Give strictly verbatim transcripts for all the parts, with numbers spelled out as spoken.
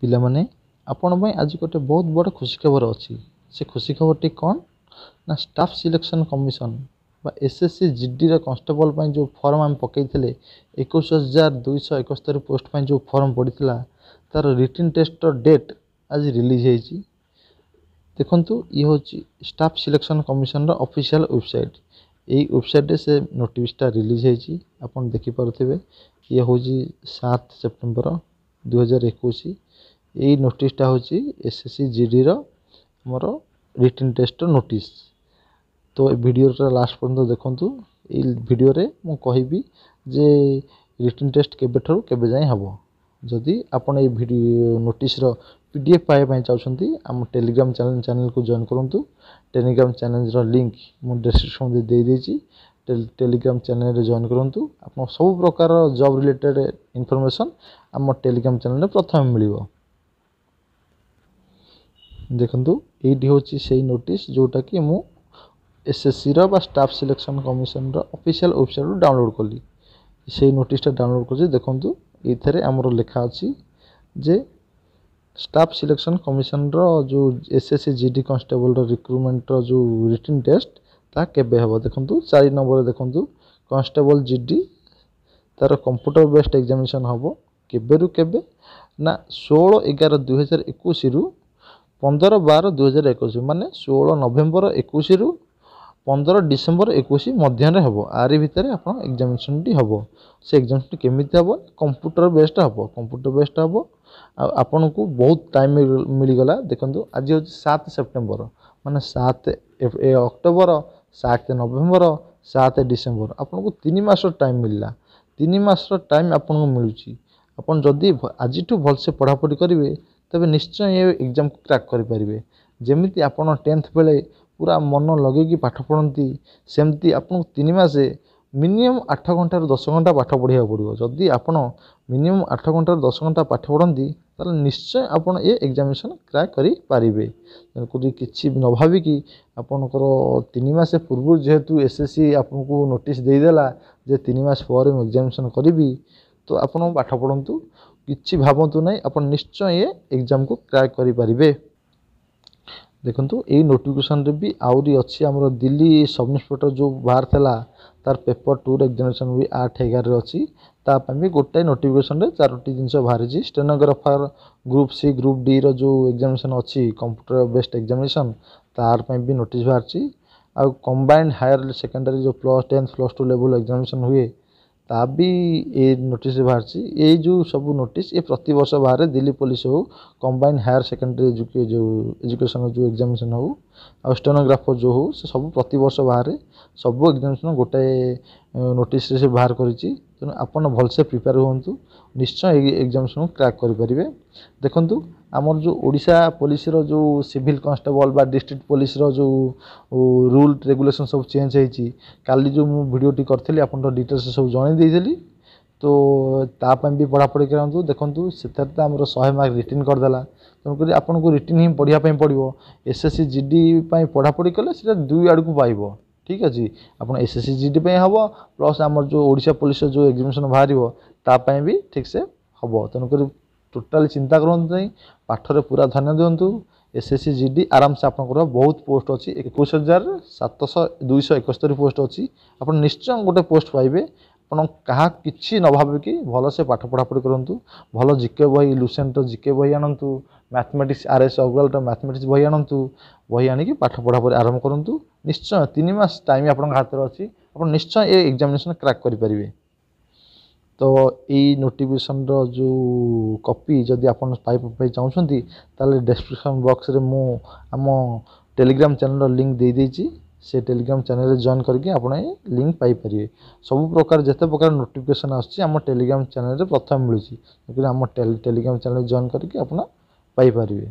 ପିଲାମାନେ ଆପଣଙ୍କ ପାଇଁ ଆଜି ଗୋଟେ ବହୁତ ବଡ଼ ଖୁସି ଖବର ଅଛି ସେ ଖୁସି ଖବରଟି କ'ଣ ନା ଷ୍ଟାଫ୍ ସିଲେକ୍ସନ୍ କମିଶନ୍ ବା ଏସ୍ ଏସ୍ ସି ଜି ଡିର କନଷ୍ଟେବଲ୍ ପାଇଁ ଯେଉଁ ଫର୍ମ ଆମେ ପକାଇଥିଲେ ଏକୋଇଶ ହଜାର ଦୁଇଶହ ଏକସ୍ତରୀ ପୋଷ୍ଟ ପାଇଁ ଯେଉଁ ଫର୍ମ ପଡ଼ିଥିଲା ତା'ର ରିଟିନ୍ ଟେଷ୍ଟର ଡେଟ୍ ଆଜି ରିଲିଜ୍ ହେଇଛି ଦେଖନ୍ତୁ ଇଏ ହେଉଛି ଷ୍ଟାଫ୍ ସିଲେକ୍ସନ୍ କମିଶନର ଅଫିସିଆଲ୍ ୱେବସାଇଟ୍ ଏଇ ୱେବସାଇଟ୍ରେ ସେ ନୋଟିସ୍ଟା ରିଲିଜ୍ ହେଇଛି ଆପଣ ଦେଖିପାରୁଥିବେ ଇଏ ହେଉଛି ସାତ ସେପ୍ଟେମ୍ବର ଦୁଇହଜାର ଏକୋଇଶ ଏଇ ନୋଟିସ୍ଟା ହେଉଛି ଏସ୍ ଏସ୍ ସି ଜି ଡିର ଆମର ରିଟିନ୍ ଟେଷ୍ଟର ନୋଟିସ୍ ତ ଏ ଭିଡ଼ିଓଟା ଲାଷ୍ଟ ପର୍ଯ୍ୟନ୍ତ ଦେଖନ୍ତୁ ଏଇ ଭିଡ଼ିଓରେ ମୁଁ କହିବି ଯେ ରିଟିନ୍ ଟେଷ୍ଟ କେବେଠାରୁ କେବେ ଯାଏଁ ହେବ ଯଦି ଆପଣ ଏଇ ଭିଡ଼ିଓ ନୋଟିସ୍ର ପି ଡି ଏଫ୍ ପାଇବା ପାଇଁ ଚାହୁଁଛନ୍ତି ଆମ ଟେଲିଗ୍ରାମ ଚ୍ୟାନେଲ୍ ଚ୍ୟାନେଲ୍କୁ ଜଏନ୍ କରନ୍ତୁ ଟେଲିଗ୍ରାମ ଚ୍ୟାନେଲ୍ର ଲିଙ୍କ୍ ମୁଁ ଡେସ୍କ୍ରିପସନ୍ରେ ଦେଇଦେଇଛି ଟେଲିଗ୍ରାମ ଚ୍ୟାନେଲ୍ରେ ଜଏନ୍ କରନ୍ତୁ ଆପଣ ସବୁ ପ୍ରକାର ଜବ୍ ରିଲେଟେଡ଼୍ ଇନଫର୍ମେସନ୍ ଆମ ଟେଲିଗ୍ରାମ ଚ୍ୟାନେଲ୍ରେ ପ୍ରଥମେ ମିଳିବ ଦେଖନ୍ତୁ ଏଇଠି ହେଉଛି ସେଇ ନୋଟିସ୍ ଯେଉଁଟାକି ମୁଁ ଏସ୍ଏସ୍ସିର ବା ଷ୍ଟାଫ୍ ସିଲେକ୍ସନ୍ କମିଶନର ଅଫିସିଆଲ୍ ୱେବସାଇଟ୍ରୁ ଡାଉନଲୋଡ଼୍ କଲି ସେଇ ନୋଟିସ୍ଟା ଡାଉନଲୋଡ଼୍ କରୁଛି ଦେଖନ୍ତୁ ଏଇଥିରେ ଆମର ଲେଖା ଅଛି ଯେ ଷ୍ଟାଫ୍ ସିଲେକ୍ସନ୍ କମିଶନର ଯେଉଁ S S C G D କନଷ୍ଟେବଲ୍ର ରିକ୍ରୁଟମେଣ୍ଟର ଯେଉଁ ରିଟିନ୍ ଟେଷ୍ଟ ତାହା କେବେ ହେବ ଦେଖନ୍ତୁ ଚାରି ନମ୍ବରରେ ଦେଖନ୍ତୁ କନଷ୍ଟେବଲ୍ ଜି ଡି ତା'ର କମ୍ପ୍ୟୁଟର ବେସ୍ଡ ଏକ୍ଜାମିନେସନ୍ ହେବ କେବେରୁ କେବେ ନା ଷୋହଳ ଏଗାର ଦୁଇହଜାର ଏକୋଇଶରୁ ପନ୍ଦର ବାର ଦୁଇହଜାର ଏକୋଇଶ ମାନେ ଷୋହଳ ନଭେମ୍ବର ଏକୋଇଶରୁ ପନ୍ଦର ଡିସେମ୍ବର ଏକୋଇଶ ମଧ୍ୟରେ ହେବ ଆରି ଭିତରେ ଆପଣ ଏକ୍ଜାମିନେସନ୍ଟି ହେବ ସେ ଏକ୍ଜାମିନେସନ୍ଟି କେମିତି ହେବ କମ୍ପ୍ୟୁଟର ବେସ୍ଡ ହେବ କମ୍ପ୍ୟୁଟର ବେସ୍ଡ ହେବ ଆଉ ଆପଣଙ୍କୁ ବହୁତ ଟାଇମ୍ ମିଳିଗଲା ଦେଖନ୍ତୁ ଆଜି ହେଉଛି ସାତ ସେପ୍ଟେମ୍ବର ମାନେ ସାତ ଅକ୍ଟୋବର ସାତ ନଭେମ୍ବର ସାତ ଡିସେମ୍ବର ଆପଣଙ୍କୁ ତିନି ମାସର ଟାଇମ୍ ମିଳିଲା ତିନି ମାସର ଟାଇମ୍ ଆପଣଙ୍କୁ ମିଳୁଛି ଆପଣ ଯଦି ଆଜିଠୁ ଭଲସେ ପଢ଼ାପଢ଼ି କରିବେ ତେବେ ନିଶ୍ଚୟ ଏ ଏକ୍ଜାମ୍କୁ କ୍ରାକ୍ କରିପାରିବେ ଯେମିତି ଆପଣ ଟେନ୍ଥ ବେଳେ ପୁରା ମନ ଲଗେଇକି ପାଠ ପଢ଼ନ୍ତି ସେମିତି ଆପଣଙ୍କୁ ତିନି ମାସ ମିନିମମ୍ ଆଠ ଘଣ୍ଟାରୁ ଦଶ ଘଣ୍ଟା ପାଠ ପଢ଼ିବାକୁ ପଡ଼ିବ ଯଦି ଆପଣ ମିନିମମ୍ ଆଠ ଘଣ୍ଟାରୁ ଦଶ ଘଣ୍ଟା ପାଠ ପଢ଼ନ୍ତି ତାହେଲେ ନିଶ୍ଚୟ ଆପଣ ଏ ଏକ୍ଜାମିନେସନ୍ କ୍ରାକ୍ କରିପାରିବେ ତେଣୁକରି କିଛି ନ ଭାବିକି ଆପଣଙ୍କର ତିନି ମାସ ପୂର୍ବରୁ ଯେହେତୁ ଏସ୍ ଏସ୍ ସି ଆପଣଙ୍କୁ ନୋଟିସ୍ ଦେଇଦେଲା ଯେ ତିନି ମାସ ପରେ ମୁଁ ଏକ୍ଜାମିନେସନ୍ କରିବି ତ ଆପଣ ପାଠ ପଢ଼ନ୍ତୁ କିଛି ଭାବନ୍ତୁ ନାହିଁ ଆପଣ ନିଶ୍ଚୟ ଏ ଏକ୍ଜାମ୍କୁ କ୍ରାକ୍ କରିପାରିବେ ଦେଖନ୍ତୁ ଏଇ ନୋଟିଫିକେସନ୍ରେ ବି ଆହୁରି ଅଛି ଆମର ଦିଲ୍ଲୀ ସବ୍ ଇନ୍ସପେକ୍ଟର ଯେଉଁ ବାହାରିଥିଲା ତାର ପେପର୍ ଟୁର ଏକ୍ଜାମିନେସନ୍ ବି ଆଠ ଏଗାରରେ ଅଛି ତା ପାଇଁ ବି ଗୋଟାଏ ନୋଟିଫିକେସନ୍ରେ ଚାରୋଟି ଜିନିଷ ବାହାରିଛି ଷ୍ଟେନୋଗ୍ରାଫର ଗ୍ରୁପ୍ ସି ଗ୍ରୁପ୍ ଡିର ଯେଉଁ ଏକ୍ଜାମିନେସନ୍ ଅଛି କମ୍ପ୍ୟୁଟର ବେସ୍ଡ ଏକ୍ଜାମିନେସନ୍ ତାର ପାଇଁ ବି ନୋଟିସ୍ ବାହାରିଛି ଆଉ କମ୍ବାଇଣ୍ଡ ହାୟର ସେକେଣ୍ଡାରୀ ଯେଉଁ plus tenth plus two level examination ହୁଏ ତା ବି ଏ ନୋଟିସ୍ ବାହାରିଛି ଏଇ ଯେଉଁ ସବୁ ନୋଟିସ୍ ଏ ପ୍ରତିବର୍ଷ ବାହାରେ ଦିଲ୍ଲୀ ପୋଲିସ ହଉ କମ୍ବାଇଣ୍ଡ ହାୟର ସେକେଣ୍ଡାରୀ ଯେଉଁ ଏଜୁକେସନ୍ ଯେଉଁ ଏକ୍ଜାମିନେସନ୍ ହଉ ଆଉ ଷ୍ଟେନୋଗ୍ରାଫର ଯେଉଁ ହଉ ସେ ସବୁ ପ୍ରତିବର୍ଷ ବାହାରେ ସବୁ ଏକ୍ଜାମିନେସନ୍ ଗୋଟାଏ ନୋଟିସ୍ରେ ସେ ବାହାର କରିଛି ତେଣୁ ଆପଣ ଭଲସେ ପ୍ରିପେୟାର ହୁଅନ୍ତୁ ନିଶ୍ଚୟ ଏଇ ଏକ୍ଜାମିନେସନ୍କୁ କ୍ରାକ୍ କରିପାରିବେ ଦେଖନ୍ତୁ ଆମର ଯେଉଁ ଓଡ଼ିଶା ପୋଲିସର ଯେଉଁ ସିଭିଲ୍ କନଷ୍ଟେବଲ୍ ବା ଡିଷ୍ଟ୍ରିକ୍ଟ ପୋଲିସର ଯେଉଁ ରୁଲ୍ ରେଗୁଲେସନ୍ ସବୁ ଚେଞ୍ଜ ହେଇଛି କାଲି ଯେଉଁ ମୁଁ ଭିଡ଼ିଓଟି କରିଥିଲି ଆପଣଙ୍କ ଡିଟେଲ୍ସ ସବୁ ଜଣାଇ ଦେଇଥିଲି ତ ତା ପାଇଁ ବି ପଢ଼ାପଢ଼ି କରନ୍ତୁ ଦେଖନ୍ତୁ ସେଥିରେ ତ ଆମର ଶହେ ମାର୍କ ରିଟିନ୍ କରିଦେଲା ତେଣୁକରି ଆପଣଙ୍କୁ ରିଟିନ୍ ହିଁ ପଢ଼ିବା ପାଇଁ ପଡ଼ିବ S S C G D ପାଇଁ ପଢ଼ାପଢ଼ି କଲେ ସେଇଟା ଦୁଇ ଆଡ଼କୁ ପାଇବ ଠିକ୍ ଅଛି ଆପଣ S S C G D ପାଇଁ ହେବ ପ୍ଲସ୍ ଆମର ଯେଉଁ ଓଡ଼ିଶା ପୋଲିସର ଯେଉଁ ଏକ୍ଜାମିନେସନ୍ ବାହାରିବ ତା ପାଇଁ ବି ଠିକ୍ସେ ହେବ ତେଣୁକରି ଟୋଟାଲି ଚିନ୍ତା କରନ୍ତୁ ନାହିଁ ପାଠରେ ପୁରା ଧ୍ୟାନ ଦିଅନ୍ତୁ S S C G D ଆରାମସେ ଆପଣଙ୍କର ବହୁତ ପୋଷ୍ଟ ଅଛି ଏକୋଇଶ ହଜାର ସାତଶହ ଦୁଇଶହ ଏକସ୍ତରୀ ପୋଷ୍ଟ ଅଛି ଆପଣ ନିଶ୍ଚୟ ଗୋଟେ ପୋଷ୍ଟ ପାଇବେ ଆପଣ କାହା କିଛି ନ ଭାବିକି ଭଲସେ ପାଠ ପଢ଼ାପଢ଼ି କରନ୍ତୁ ଭଲ ଜିକେ ବହି ଲୁସେଣ୍ଟର ଜିକେ ବହି ଆଣନ୍ତୁ ମ୍ୟାଥମେଟିକ୍ସ ଆର୍ ଏସ୍ ଅଗ୍ରୱାଲର ମ୍ୟାଥମେଟିକ୍ସ ବହି ଆଣନ୍ତୁ ବହି ଆଣିକି ପାଠ ପଢ଼ାପଢ଼ି ଆରମ୍ଭ କରନ୍ତୁ ନିଶ୍ଚୟ ତିନି ମାସ ଟାଇମ୍ ଆପଣଙ୍କ ହାତରେ ଅଛି ଆପଣ ନିଶ୍ଚୟ ଏ ଏକ୍ଜାମିନେସନ୍ କ୍ରାକ୍ କରିପାରିବେ ତ ଏଇ ନୋଟିଫିକେସନ୍ର ଯେଉଁ କପି ଯଦି ଆପଣ ପାଇବା ପାଇଁ ଚାହୁଁଛନ୍ତି ତାହେଲେ ଡେସ୍କ୍ରିପସନ୍ ବକ୍ସରେ ମୁଁ ଆମ ଟେଲିଗ୍ରାମ ଚ୍ୟାନେଲ୍ର ଲିଙ୍କ୍ ଦେଇଦେଇଛି ସେ ଟେଲିଗ୍ରାମ ଚ୍ୟାନେଲ୍ରେ ଜଏନ୍ କରିକି ଆପଣ ଏ ଲିଙ୍କ୍ ପାଇପାରିବେ ସବୁ ପ୍ରକାର ଯେତେ ପ୍ରକାର ନୋଟିଫିକେସନ୍ ଆସୁଛି ଆମ ଟେଲିଗ୍ରାମ ଚ୍ୟାନେଲ୍ରେ ପ୍ରଥମେ ମିଳୁଛି ତେଣୁକରି ଆମ ଟେଲିଗ୍ରାମ ଚ୍ୟାନେଲ୍ ଜଏନ୍ କରିକି ଆପଣ ପାଇପାରିବେ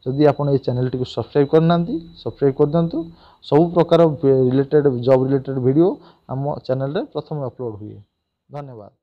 ଯଦି ଆପଣ ଏ ଚ୍ୟାନେଲ୍ଟିକୁ ସବସ୍କ୍ରାଇବ୍ କରିନାହାନ୍ତି ସବସ୍କ୍ରାଇବ୍ କରିଦିଅନ୍ତୁ ସବୁ ପ୍ରକାର ରିଲେଟେଡ଼୍ ଜବ୍ ରିଲେଟେଡ଼୍ ଭିଡ଼ିଓ ଆମ ଚ୍ୟାନେଲ୍ରେ ପ୍ରଥମେ ଅପଲୋଡ଼୍ ହୁଏ ଧନ୍ୟବାଦ